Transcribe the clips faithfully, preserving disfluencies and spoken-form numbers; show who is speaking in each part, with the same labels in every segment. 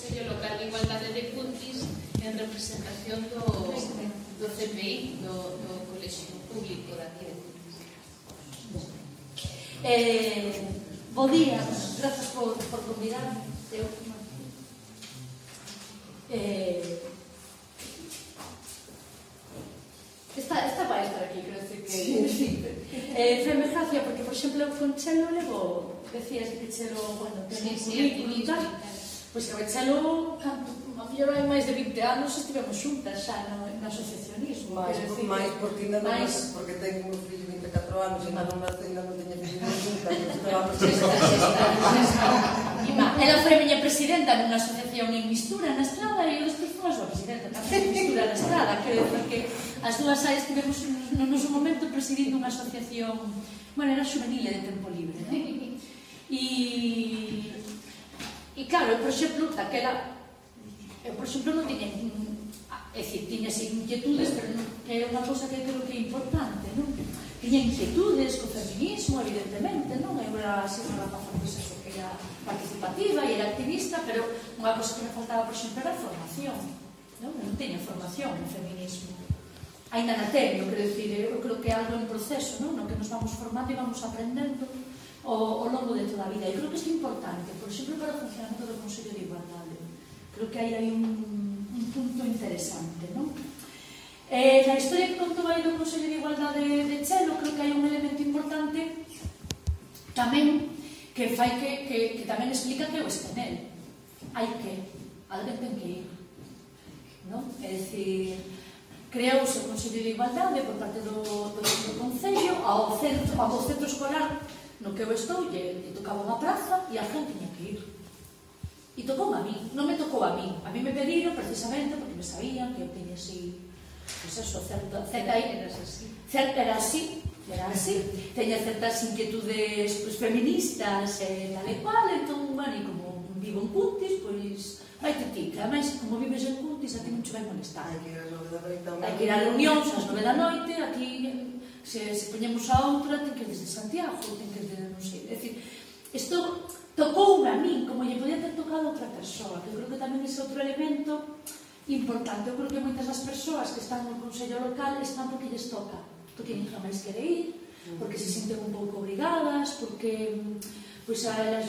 Speaker 1: Consello Local de Igualdade de Cuntis en representación do C P I, do Colexio Público de aquí de Cuntis.
Speaker 2: Bo día, grazas por convidarme. Esta vai estar aquí, creo que feme gracia, porque, por exemplo, con Chelo levo, decías que Chelo, bueno, ten un currículum e tal, pois que Chelo, a mellor hai máis de vinte anos estivemos xuntas xa no asociacionismo.
Speaker 3: Mais, porque ainda non, porque tenho un fillo de vinte e catro anos e ainda non teña fillo xuntas, estábamos
Speaker 2: ela foi a miña presidenta nunha asociación en Mistura na Estrada e eu despois fui a súa presidenta tamén en Mistura na Estrada, creo, porque as dúas aí estivemos no noso momento presidindo unha asociación, bueno, era juvenil de tempo libre, non? E, e claro, eu, por exemplo, daquela, eu, por exemplo, non tiña, é dicir, tiña inquietudes, pero é unha cosa que creo que é importante, non? Tiña inquietudes co feminismo, evidentemente, non? Eu era así unha rapaza, pois eso, que era participativa e era activista, pero unha cosa que me faltaba, por exemplo, era a formación, non? Eu non teña formación en feminismo. Ainda na teño, quero dicir, eu creo que é algo en proceso, non? No que nos vamos formando e vamos aprendendo ao longo de toda a vida. E creo que isto é importante, por exemplo, para o funcionamento do Consello de Igualdade. Creo que aí hai un punto interesante, non? Na historia que contou aí do Consello de Igualdade de Chelo, creo que hai un elemento importante tamén que fai que tamén explica que eu este nel. Hai que, alguén ten que ir, non? É dicir, creouse o Consello de Igualdade por parte do Concello ao centro escolar no que eu estou, e tocaba unha praza e a gente tiña que ir. E tocou a mí, non me tocou a mí. A mí me pediron precisamente porque me sabían que eu teña así, pois eso, certa... Era así, era así. Teña certas inquietudes feministas e tal e cual, entón, bueno, e como vivo en Cuntis, pois... Vai te ti, que ademais, como vives en Cuntis, a ti non che vai molestar. Hai que ir a reunións ás nove da noite, aquí, se poñemos a outra, ten que ir desde Santiago, ten que ir desde, non sei, é dicir, isto tocoume a min, como lle podía ter tocado a outra persoa, que creo que tamén é outro elemento importante. Eu creo que moitas das persoas que están no Consello Local están porque lles toca, porque ninguén máis quere ir, porque se sinten un pouco obrigadas, porque, pois, a elas,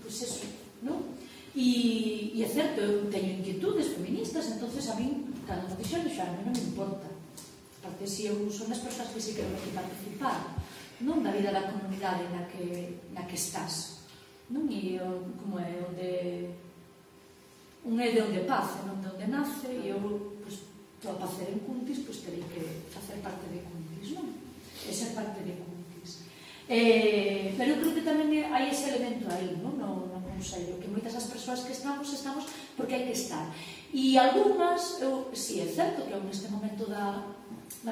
Speaker 2: pois eso, non? E é certo, eu teño inquietudes feministas, entonces a min, cando me dixeron, xa, a mí non me importa. Porque se eu son as persoas que se quero aquí participar, non da vida da comunidade na que estás, non? E como é, onde un é de onde pace, non de onde nace, e eu, pois, estou a pacer en Cuntis, pois terei que facer parte de Cuntis, non? E ser parte de Cuntis. Pero eu creo que tamén hai ese elemento aí, non? No Consello, que moitas das persoas que estamos, estamos porque hai que estar. E algunhas, eu, si é certo que eu neste momento da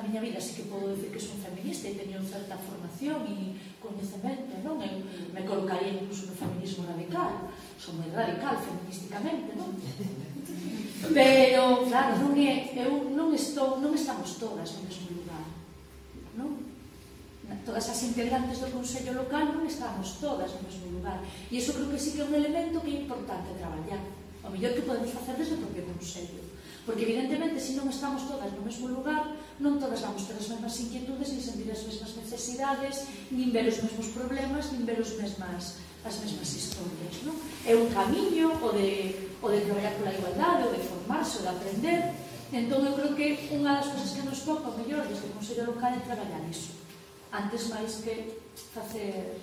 Speaker 2: miña vida sí que podo dicir que son feminista e teño certa formación e coñecemento, non? Eu me colocaría incluso no feminismo radical, son moi radical feministicamente, non? Pero, claro, non é, eu non estou, non estamos todas no mesmo lugar, non? Todas as integrantes do Consello Local non estamos todas no mesmo lugar. E iso creo que sí que é un elemento que é importante traballar. O mellor que podemos facer desde o propio Consello. Porque, evidentemente, se non estamos todas no mesmo lugar, non todas vamos ter as mesmas inquietudes, nin sentir as mesmas necesidades, nin ver os mesmos problemas, nin ver as mesmas historias. É un camiño o de traballar pola igualdade, o de formarse, o de aprender. Entón, eu creo que unha das cosas que nos toca, o mellor, desde o Consello Local é traballar iso. Antes máis que facer...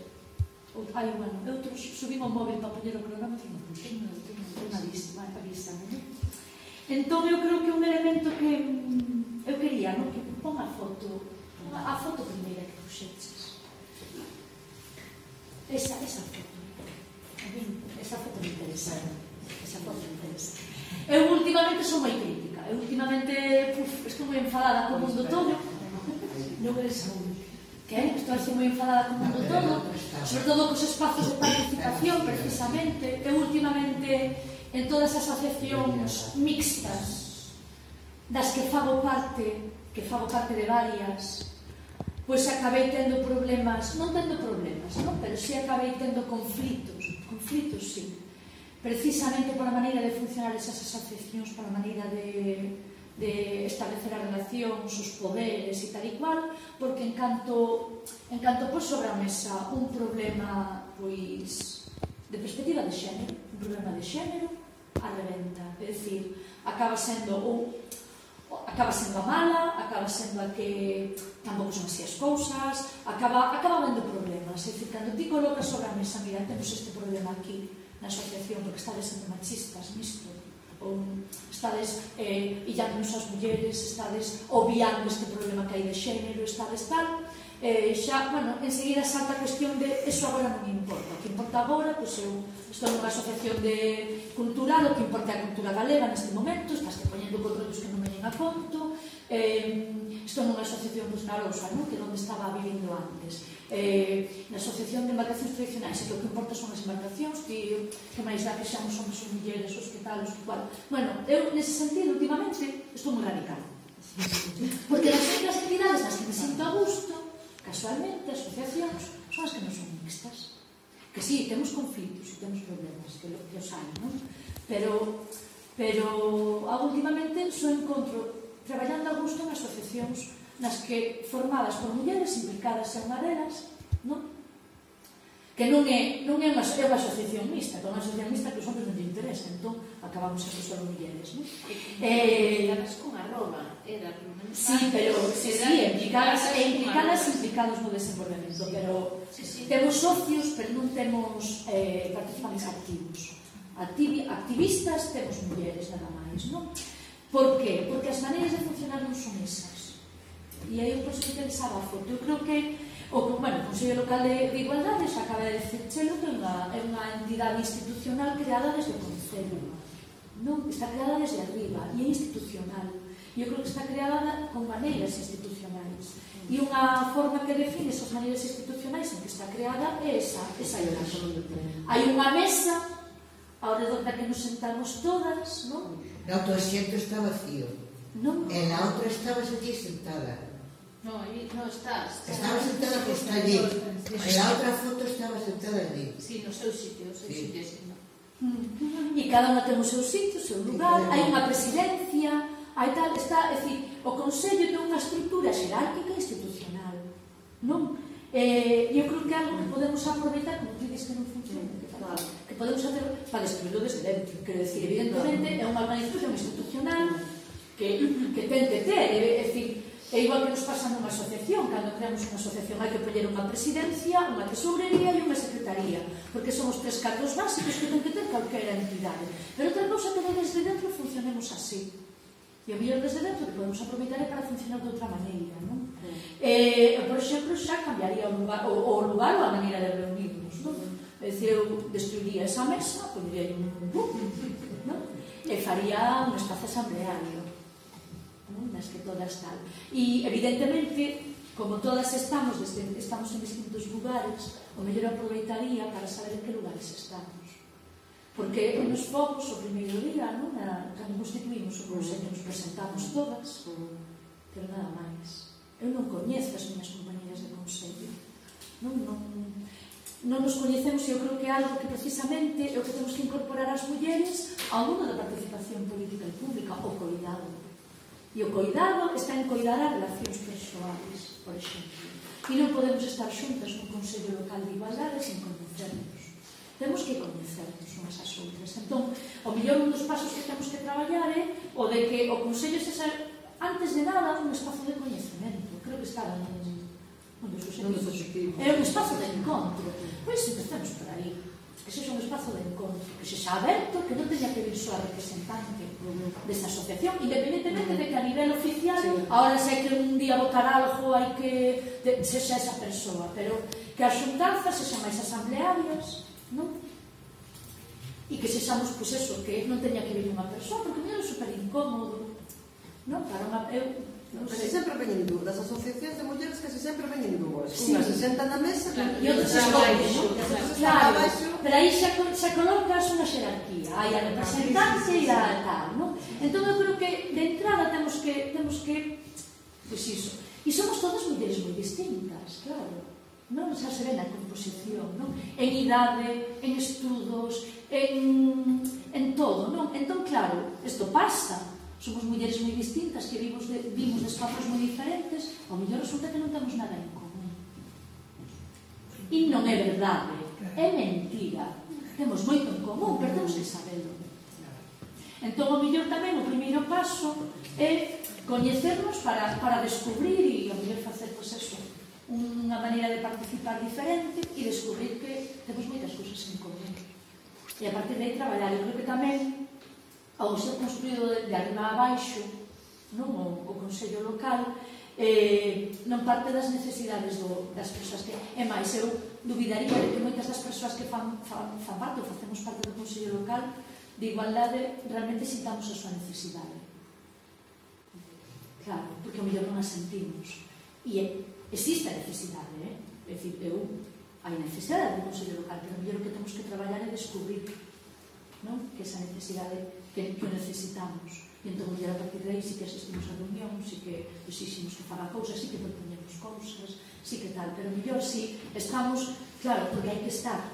Speaker 2: Ai, bueno, eu subimos o móvil para poñer o cronómetro, non teño unha lista, non? Entón, eu creo que un elemento que eu quería, non? Que pon a foto, a foto primeira que puxeches. Esa, esa foto. A mí, esa foto me interesa. Esa foto me interesa. Eu últimamente son moi crítica. Eu últimamente, puf, estou moi enfadada co mundo todo. Non eres un... Estou así moi enfadada co mundo todo, sobre todo cos espazos de participación, precisamente. Eu últimamente, en todas as asociacións mixtas das que fago parte, que fago parte de varias, pois acabei tendo problemas, non tendo problemas, non? Pero si acabei tendo conflitos, conflitos, sí, precisamente pola maneira de funcionar esas asociacións, pola maneira de, de establecer as relacións, os poderes e tal e cual, porque en canto, en canto pos sobre a mesa un problema pois de perspectiva de xénero, un problema de xénero, a reventa, é dicir, acaba sendo ou acaba sendo a mala, acaba sendo a que tampouco son así as cousas, acaba, acaba habendo problemas. É dicir, cando ti colocas sobre a mesa, mira, temos este problema aquí na asociación porque estades sendo machistas nisto, ou estades eh, illándonos as mulleres, estades obviando este problema que hai de xénero, estades tal, eh, xa, bueno, enseguida salta a cuestión de eso agora non me importa, o que importa agora, pois eu estou nunha asociación de cultural, o que importa é a cultura galega neste momento, estás que poñendo controlos que non veñen a conto, eh, estou nunha asociación pois, na Lousa, non? Que é onde estaba vivindo antes, eh, na asociación de embarcacións tradicionais, e que o que importa son as embarcacións, que, que máis dá que xamos somos os mulleres, os que tal, os que cual. Bueno, eu nese sentido, últimamente, estou moi radical, porque as únicas entidades nas que me sinto a gusto, casualmente, as asociacións son as que non son mixtas. Que sí, temos conflitos e temos problemas, que, lo, que os hai, non? Pero, pero últimamente só encontro traballando a gusto en asociacións nas que, formadas por mulleres implicadas en unha delas, non? Que non é, non é unha, é unha asociación mixta, que é unha asociación mixta que os hombres non te interesa, entón acabamos sempre só mulleres, non?
Speaker 1: Implicadas con a Roma, era pelo menos.
Speaker 2: Sí, pero, sí, sí, implicadas, implicadas, implicados no desenvolvemento, pero
Speaker 1: sí, sí.
Speaker 2: Temos socios, pero non temos eh, participantes activos. Activi, activistas temos mulleres, nada máis, non? Por qué? Porque as maneiras de funcionar non son esas. E aí eu penso que pensaba a foto. Eu creo que o, bueno, o Consello Local de, de Igualdade xa acaba de decir chelo que é unha, é unha entidade institucional creada desde o Concello, non? Está creada desde arriba e é institucional. E eu creo que está creada con maneiras institucionais. E unha forma que define esas maneiras institucionais en que está creada é esa, esa imaxe. Hai unha mesa ao redor da que nos sentamos todas, non?
Speaker 4: No, tu asiento está vacío.
Speaker 2: Non?
Speaker 4: En la outra estabas allí sentada.
Speaker 1: No, ahí no estás.
Speaker 4: Estaba sentada que está allí. En la outra foto estaba sentada allí.
Speaker 1: Sí, no seu sitio, o seu
Speaker 4: Sí.
Speaker 1: sitio, sí, no.
Speaker 2: E cada unha ten o seu sitio, o seu lugar, hai unha presidencia, hai tal, está, é dicir, o Consello ten unha estrutura xerárquica e institucional, non? Eh, eu creo que é algo que podemos aproveitar, como tú dices que non funciona, que, claro, que podemos hacer para destruirlo desde dentro, quero decir, evidentemente é unha organización institucional que, que ten que ter, é, é dicir, é igual que nos pasa nunha asociación, cando creamos unha asociación hai que poñer unha presidencia, unha tesourería e unha secretaría, porque son os tres cargos básicos que ten que ter calquera entidade. Pero outra cousa que desde dentro funcionemos así. E o mellor desde dentro que podemos aproveitar é para funcionar de outra maneira, non? Mm. Eh, por exemplo, xa cambiaría o lugar, o, o lugar ou a maneira de reunirnos, non? É dicir, eu destruiría esa mesa, poñería un bum, non? E faría un espazo asambleario, nas que todas tal. E, evidentemente, como todas estamos, desde, estamos en distintos lugares, o mellor aproveitaría para saber en que lugares estamos. Porque nos fomos o primeiro día, non? Na, cando constituímos o Consello, nos presentamos todas, pero nada máis. Eu non coñezo as miñas compañeras de Consello. Non, non, non nos coñecemos e eu creo que é algo que precisamente é o que temos que incorporar as mulleres ao mundo da participación política e pública, o coidado. E o coidado está en coidar as relacións persoais, por exemplo. E non podemos estar xuntas no Consello Local de Igualdade sen coñecernos. Temos que coñecernos unhas as outras. Entón, o mellor un dos pasos que temos que traballar é o de que o Consello sexa, antes de nada, un espazo de coñecemento. Creo que está en un dos objetivos. É un espazo de encontro. Pois empecemos por aí. Que sexa un espazo de encontro, que sexa aberto, que non teña que vir só a representante desa asociación, independentemente de que a nivel oficial, ahora sei que un día votar algo hai que sexa esa persoa, pero que as xuntanzas sexan máis asamblearias, non? E que sexamos, pois eso, que non teña que vir unha persoa, porque non é super incómodo, non? Para unha... Eu,
Speaker 3: non sei. Casi sempre veñen dúas, das asociacións de mulleres casi sempre veñen dúas. Unha se senta na mesa
Speaker 2: e outra se escolle, claro, pero aí xa, xa colocas unha xerarquía, hai a representante e a tal, non? Entón eu creo que de entrada temos que, temos que, pois iso, e somos todas mulleres moi distintas, claro, non? Xa se ve na composición, non? En idade, en estudos, en Entón, claro, isto pasa. Somos mulleres moi distintas, que vimos de, vimos de espazos moi diferentes, ao mellor resulta que non temos nada en común. E non é verdade, é mentira. Temos moito en común, pero temos que saberlo. Entón, ao mellor tamén o primeiro paso é coñecernos para, para descubrir e ao mellor facer, pois, eso, unha maneira de participar diferente e descubrir que temos moitas cousas en común. E a partir de aí traballar. Eu creo que tamén ao ser construído de arriba a baixo, non, o, o Consello Local, eh, non parte das necesidades do, das persoas que... É máis, eu dubidaría de que moitas das persoas que fan, fan, fan parte ou facemos parte do Consello Local de igualdade realmente sintamos a súa necesidade. Claro, porque ao mellor non a sentimos. E é, existe a necesidade, eh? É dicir, eu, hai necesidade do Consello Local, pero ao mellor o que temos que traballar é descubrir, non? Que esa necesidade que, que necesitamos. E entón, a partir de aí, sí que asistimos a reunión, sí que exiximos que faga cousas, sí que proponemos cousas, sí que tal, pero mellor si estamos, claro, porque hai que estar,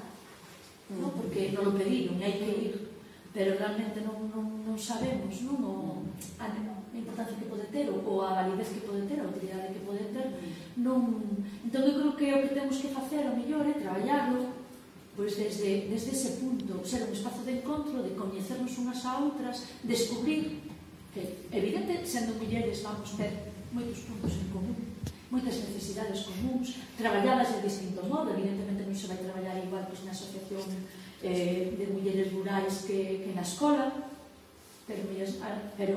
Speaker 2: non? Porque non lo pediron, hai que ir, pero realmente non, non, non sabemos, non? O, a, a importancia que pode ter, ou a validez que pode ter, a utilidade que pode ter, non... Entón, eu creo que o que temos que facer, o mellor, é traballarlo, pois desde, desde ese punto, ser un espazo de encontro, de coñecernos unhas a outras, descubrir que, evidente, sendo mulleres vamos ter moitos puntos en común, moitas necesidades comuns, traballadas de distinto modo, evidentemente non se vai traballar igual pois, na asociación eh, de mulleres rurais que, que na escola, pero, pero,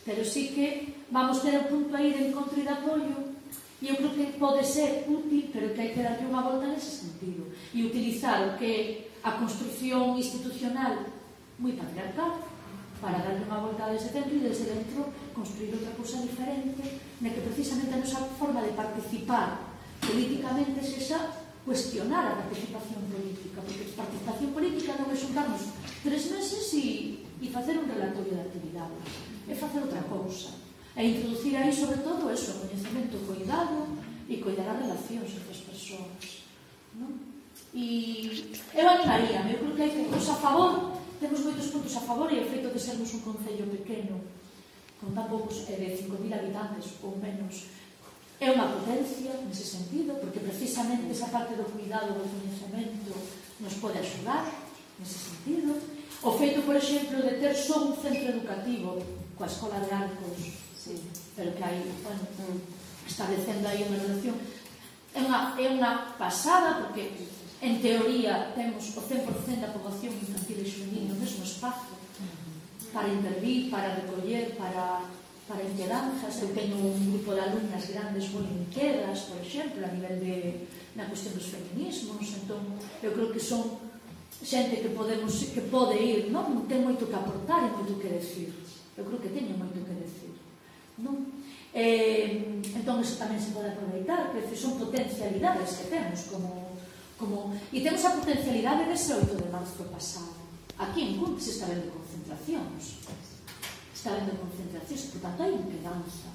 Speaker 2: pero sí que vamos ter un punto aí de encontro e de apoio. E eu creo que pode ser útil, pero que hai que darlle unha volta nese sentido e utilizar o que a construcción institucional moi patriarcal para darlle unha volta desde dentro e desde dentro construir outra cousa diferente na que precisamente a nosa forma de participar políticamente sexa cuestionar a participación política, porque a participación política non é xuntarnos tres meses e, e facer un relatorio de actividades, é facer outra cousa. E introducir aí, sobre todo, eso, o coñecemento, o cuidado e cuidar as relacións entre as persoas, non? E eu animaría, eu creo que hai puntos a favor, temos moitos puntos a favor e o feito de sermos un concello pequeno, con tan poucos, eh, de cinco mil habitantes ou menos, é unha potencia nese sentido, porque precisamente esa parte do cuidado, do coñecemento, nos pode axudar nese sentido. O feito, por exemplo, de ter só un centro educativo coa Escola de Arcos, sí, pero que hai, bueno, establecendo aí unha relación, é unha, é unha pasada, porque en teoría temos o cen por cento da poboación infantil e juvenil no mesmo espazo para intervir, para recoller, para, para inquedanzas. Eu teño un grupo de alumnas grandes moi inquedas, por exemplo, a nivel de na cuestión dos feminismos. Entón, eu creo que son xente que podemos, que pode ir, non? Ten moito que aportar e moito que decir. Eu creo que teño moito que decir, non? Eh, entón, eso tamén se pode aproveitar, que son potencialidades que temos como, como... E temos a potencialidade dese oito de marzo pasado. Aquí en Cuntis se está vendo concentracións. Está vendo concentracións, por tanto, hai inquedanza.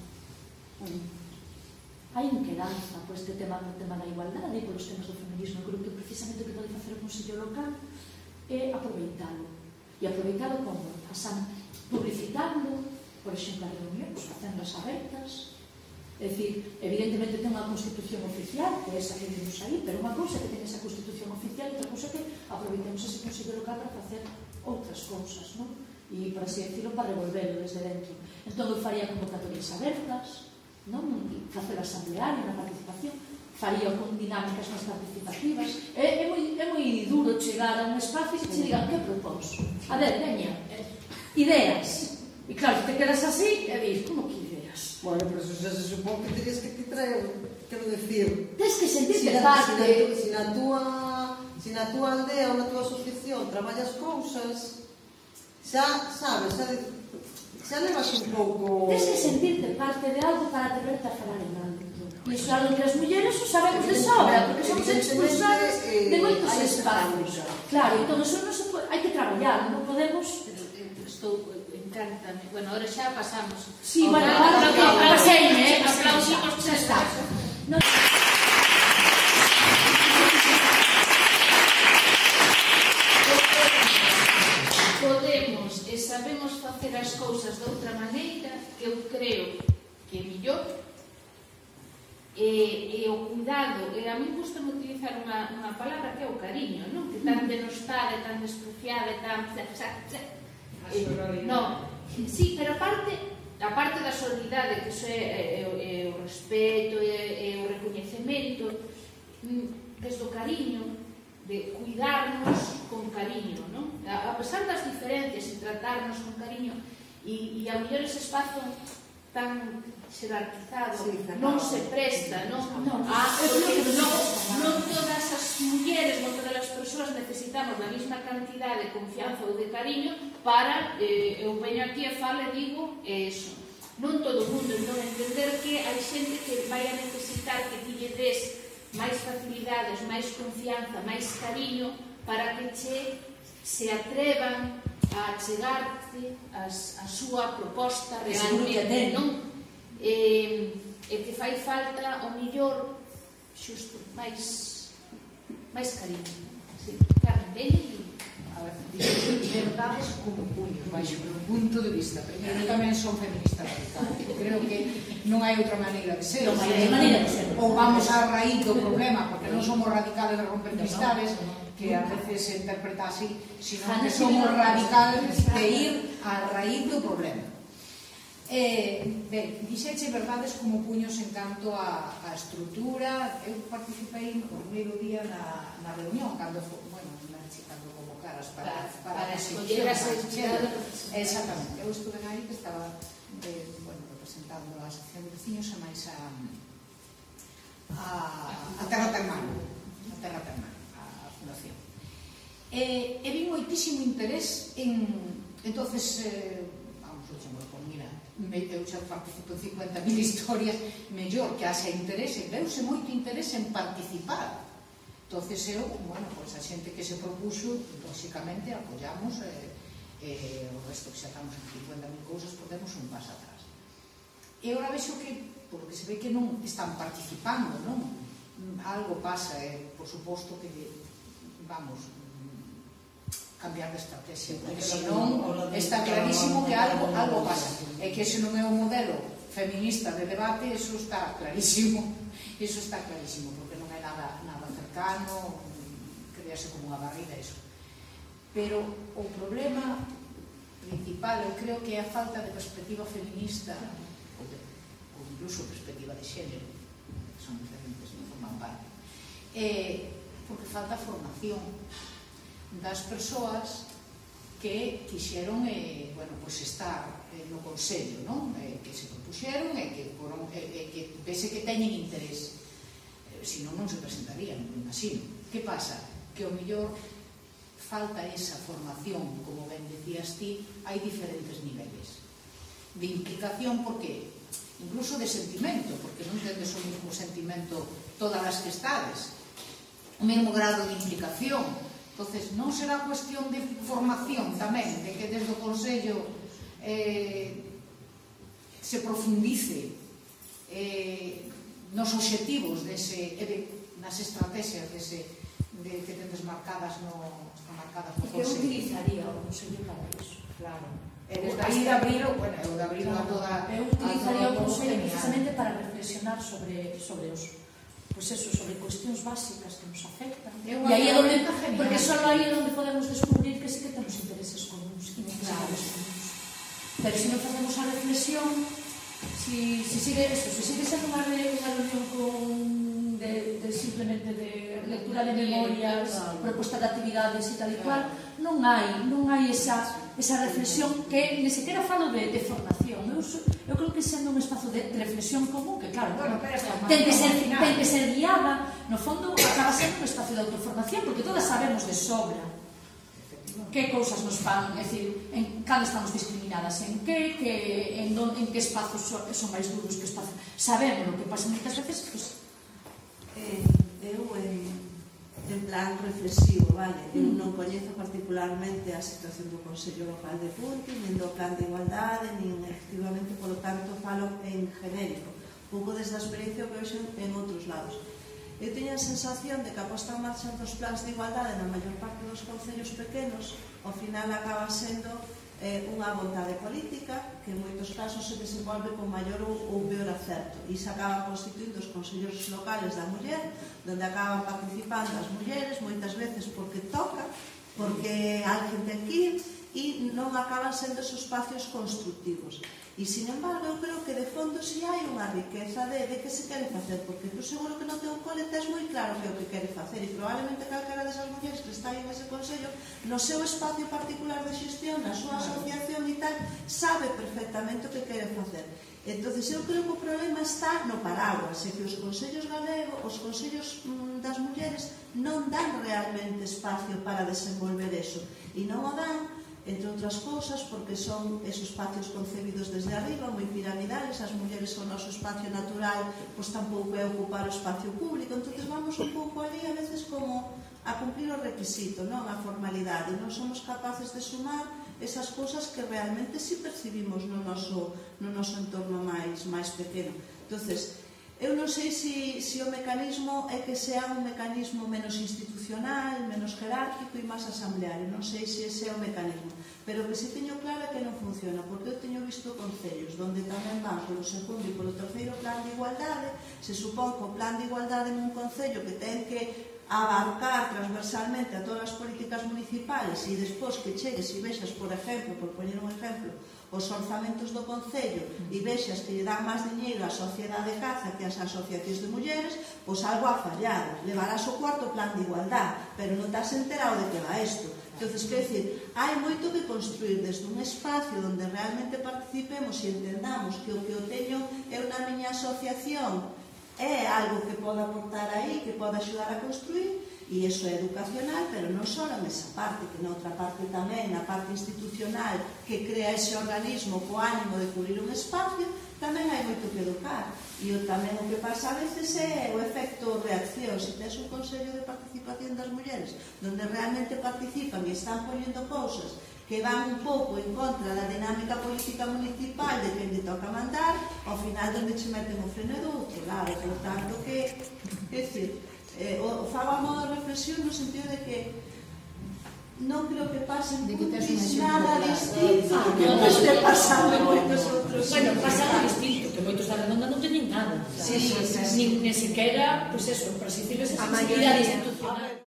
Speaker 2: Hai inquedanza por este tema, no tema da igualdade e por os temas do feminismo. Eu creo que precisamente o que pode facer o Consello Local é aproveitalo. E aproveitalo como? Publicitando, por exemplo, as reunións, facendo as abertas. É dicir, evidentemente ten unha constitución oficial, que é esa que vimos aí, pero unha cousa que ten esa constitución oficial e outra cousa que aproveitemos ese Consello Local para facer outras cousas, non? E, por así decirlo, para revolverlo desde dentro. Entón, eu faría convocatorias abertas, non? Facer asambleario na participación, faría con dinámicas máis participativas. É, é, moi, é moi duro chegar a un espacio e que che digan que propós. A ver, veña, ideas. E claro, te quedas así e dis, como que ideas?
Speaker 3: Bueno, pero eso se supón que terías que te traer, quero decir...
Speaker 2: Tens que sentirte
Speaker 3: si
Speaker 2: parte...
Speaker 3: Si na túa, si na túa aldea ou na túa asociación traballas cousas, xa, sabes, xa, xa levas un pouco...
Speaker 2: Tens que sentirte parte de algo para atreverte a falar en algo. E iso é algo que as mulleres o sabemos de sobra, porque somos expulsadas de moitos espacios. Claro, entón, eso non se pode, hai que traballar, non podemos...
Speaker 1: Estou... Encántame. Bueno, ahora xa pasamos.
Speaker 2: Sí, bueno, ahora que pasei, eh?
Speaker 1: Aplausimos,
Speaker 2: xa está. Podemos examinar
Speaker 1: sabemos facer as cousas de outra maneira, que eu creo que é millor, e, e o cuidado, e a mí gusta utilizar unha, unha palabra que é o cariño, non? Que tan denostada, tan despreciada, tan... Eh, non, sí, pero aparte, aparte da solidariedade, que iso é, é, é o respeto, é, é o recoñecemento, desde o cariño, de cuidarnos con cariño, non? A pesar das diferencias e tratarnos con cariño, e, e a mellor ese espazo tan xerarquizado sí, non se presta, non? Non, ah, porque non, non todas as mulleres, non todas as persoas necesitamos da mesma cantidad de confianza ou de cariño para, eh, eu veño aquí e falo e digo eso. Non todo o mundo, non entender que hai xente que vai a necesitar que ti lle des máis facilidades, máis confianza, máis cariño para que che se atrevan a chegarte a súa proposta realmente, non? E, e que fai falta o millor xusto, máis máis cariño. Sí, Carmen, ven e...
Speaker 5: A ver, verdades como puños, baixo meu punto de vista. Primeiro, eu tamén son feminista radical. Creo que non hai outra maneira de ser.
Speaker 2: Non hai maneira de ser.
Speaker 5: Ou vamos á raíz do problema, porque non somos radicales de romper amistades, que a veces se interpreta así, sino que somos radicales de ir á raíz do problema. Eh, ben, dixeche verdades como puños en canto a, a estrutura. Eu participei no primeiro día na, na reunión, cando, bueno, cando convocaras para, para, para
Speaker 1: escoller a sección.
Speaker 5: Exactamente, eu estuve aí que estaba eh, bueno, representando a asociación de veciños e máis a, a, a Terra Termal, a Terra Termal, a fundación. E, e vi moitísimo interés en, entonces, eh, vamos, eu chamo por mira, eu xa participo en cincuenta mil historias, mellor que haxe interese, veuse moito interese en participar. Entonces eu, bueno, pois a xente que se propuxo, lógicamente apoyamos, e eh, eh, o resto que xa estamos en cincuenta mil cousas, podemos un paso atrás. E agora vexo que, por que se ve que non están participando, non? Algo pasa, e por suposto que, vamos, cambiar de estrategia, porque senón está clarísimo que algo, algo pasa, e que ese non é un modelo feminista de debate, eso está clarísimo, eso está clarísimo, porque non é nada, nada cercano, crease como unha barriga, eso. Pero o problema principal, eu creo que é a falta de perspectiva feminista, ou, de, ou incluso perspectiva de xénero, que son diferentes, non forman parte, eh, porque falta formación das persoas que quixeron eh, bueno, pues estar eh, no Consello, non? Eh, que se propuxeron e que, foron, eh, eh, que vese que teñen interés, eh, senón non se presentarían, me imagino. Que pasa? Que o mellor falta esa formación, como ben decías ti, hai diferentes niveles de implicación, porque incluso de sentimento, porque non tendes o mesmo sentimento todas as que estades, o mesmo grado de implicación. Entonces, non será cuestión de formación tamén, de que desde o Consello eh, se profundice eh, nos obxectivos dese, de, nas estrategias dese, de, que tendes marcadas no, marcadas no Consello.
Speaker 2: Que utilizaría o Consello para iso?
Speaker 5: Claro. E desde aí de abrilo, bueno, eu de abrilo a toda...
Speaker 2: Eu utilizaría o Consello precisamente para reflexionar sobre, sobre os... Pois eso, sobre cuestións básicas que nos afectan. E aí é onde, porque só aí é onde podemos descubrir que sí que temos intereses comuns, e necesidades comuns. Pero se non facemos a reflexión, si, si sigue eso, si sigue sendo unha reunión con de, de simplemente de lectura de memorias, proposta de actividades e tal e cual, non hai, non hai esa, esa reflexión que ni sequera falo de, de formación. Eu, eu creo que sendo un espazo de reflexión común, que claro, bueno, ten que ser, ten que ser guiada, no fondo acaba sendo un espacio de autoformación, porque todas sabemos de sobra que cousas nos fan, é dicir, en cando estamos discriminadas, en que, que en, don, en que espazos son, son máis duros, que espazos. Sabemos o que pasa moitas veces, pues,
Speaker 6: eh, eu en, en plan reflexivo, vale? Eu non coñezo particularmente a situación do Consello Local de Punti, nin do Plan de Igualdade, nin efectivamente, polo tanto, falo en genérico, pouco desde a experiencia que vexo en outros lados. Eu teño a sensación de que a posta en marcha dos plans de igualdade na maior parte dos concellos pequenos, ao final acaba sendo eh, unha vontade política que en moitos casos se desenvolve con maior ou, ou peor acerto e se acaban constituindo os consellos locales da muller, donde acaban participando as mulleres moitas veces porque toca, porque alguén ten que ir e non acaban sendo esos espacios constructivos. E, sin embargo, eu creo que de fondo si hai unha riqueza de, de que se quere facer, porque tú seguro que no teu cole tes moi claro que é o que quere facer e probablemente calquera desas mulleres que está aí nese consello, no seu espacio particular de xestión, na súa asociación e tal, sabe perfectamente o que quere facer. Entón, eu creo que o problema está no paraguas, e que os consellos galegos, os consellos mm, das mulleres non dan realmente espacio para desenvolver eso, e non o dan, entre outras cousas, porque son esos espacios concebidos desde arriba, moi piramidales, as mulleres son o noso espacio natural, pois tampouco é ocupar o espacio público, entón vamos un pouco ali a veces como a cumplir o requisito, non a formalidade, non somos capaces de sumar esas cousas que realmente si percibimos no noso, no noso entorno máis, máis pequeno. Entonces, eu non sei se si, si o mecanismo é que sea un mecanismo menos institucional, menos jerárquico e máis asambleario, non sei se ese é o mecanismo, pero que si teño claro é que non funciona, porque eu teño visto concellos onde tamén van polo segundo e polo terceiro plan de igualdade, se supón que o plan de igualdade nun concello que ten que abarcar transversalmente a todas as políticas municipales e despois que chegues e vexas, por exemplo, por poñer un exemplo, os orzamentos do concello e vexas que lle dan máis diñeiro á sociedade de caza que as asociacións de mulleres, pois algo ha fallado. Levarás o cuarto plan de igualdade, pero non te has enterado de que va isto. Entón, quer dizer, hai moito que construir desde un espacio onde realmente participemos e entendamos que o que eu teño é na miña asociación é algo que pode aportar aí, que pode axudar a construir, e iso é educacional, pero non só nesa parte, que noutra parte tamén, na parte institucional, que crea ese organismo co ánimo de cubrir un espacio, tamén hai moito que educar. E tamén o que pasa a veces é o efecto reacción. Se tens un consello de participación das mulleres, donde realmente participan e están poñendo cousas que van un pouco en contra da dinámica política municipal de quen lle toca mandar, ao final donde che meten o freno do outro lado. Por tanto, que, que decir, eh, o fago a modo de reflexión no sentido de que non creo que pasen puntis nada distinto que non este pasando en moitos outros.
Speaker 2: Bueno, pasando distinto, que moitos da redonda non teñen nada.
Speaker 5: Sí, sí, sí.
Speaker 2: Ni, ni siquiera, pois eso, para asistir a esa sensibilidade institucional.